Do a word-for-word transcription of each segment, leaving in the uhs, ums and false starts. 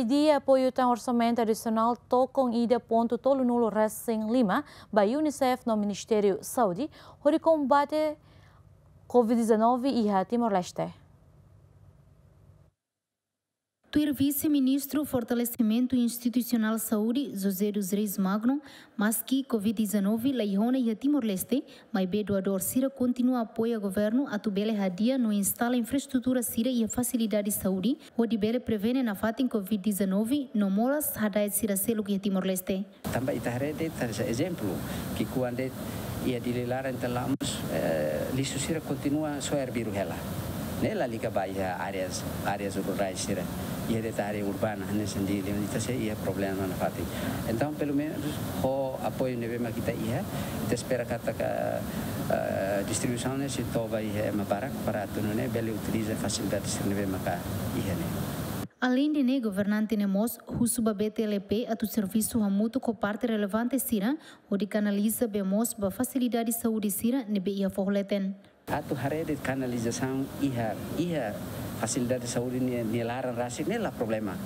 Dia apoiu tan orsamentu adisionál tokon ida pontu tolunulu resin lima ba UNICEF no Ministériu Saúde hodi kombate Covid dezanove iha Timor-Leste. Tuir Vise-Ministru Fortalesimentu Institusionál Saúde, José dos Reis Magno, maski Covid dezanove laiha ona iha Timor-Leste, maibé doadór sira kontinua apoia governu atu bele hadi'a no instala infraestrutura sira iha fasilidade saúde, hodi bele prevene nafatin Covid dezanove no moras hada'et sira seluk iha Timor-Leste. Tanba ita haree de'it, ita ezemplu, ki'ikoan de'it iha Dili laran ita la mós, eh, lixu sira kontinua soe arbiru hela. Ne'e lalika ba iha áreas, áreas rurais sira. Iha de'it área urbana, hanesan Dili, ita sei iha problema nafatin. Entaun, pelumenus, ho apoiu ne'ebé mak ita iha, ita espera katak, eh, distribuisaun ne'e sei to'o ba iha ema barak para atu nune'e bele utiliza fasilidade sira ne'ebé maka iha ne'e. Aleinde ne'e, governante ne'e mós husu ba B T L P atu servisu hamutuk ho parte relevante sira, hodi kanaliza bee moos ba fasilidade saúde sira ne'ebé iha foho leten. Atu haree de'it kanalizasaun iha, iha fasilidade saúde nia, nia laran rasik ne'e la problema.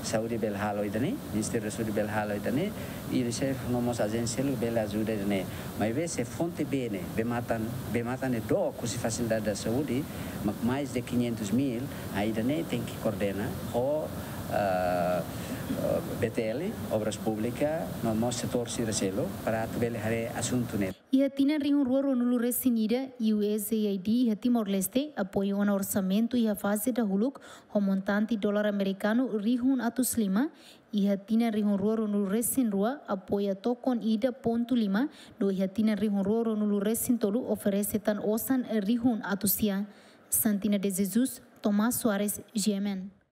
Saúde bele halo ida-ne'e, Ministériu Saúde bele halo ida-ne'e, UNICEF no mós ajénsia seluk bele ajuda ida-ne'e. Maibé se fonte bee ne'e, bee-matan, bee-matan ne'e dook husi fasilidade saúde, mak mais de quinhentos mil, ah, ida-ne'e tenke koordena ho, ah, ah, B T L, Obras Públikas, no mós setór sira seluk, para atu bele haree asuntu ne'e. Iha tinan rihun rua ruanulu resin ida, U S A I D iha Timor-Leste apoia ona orsamentu iha faze dahuluk ho montante dolar amerikanu rihun atus lima, iha tinan rihun rua ruanulu resin rua apoia tokon ida pontu lima, no iha tinan rihun rua ruanulu resin tolu oferese tan osan rihun atus sia. Santina de Jesus, Tomás Soares, G M N.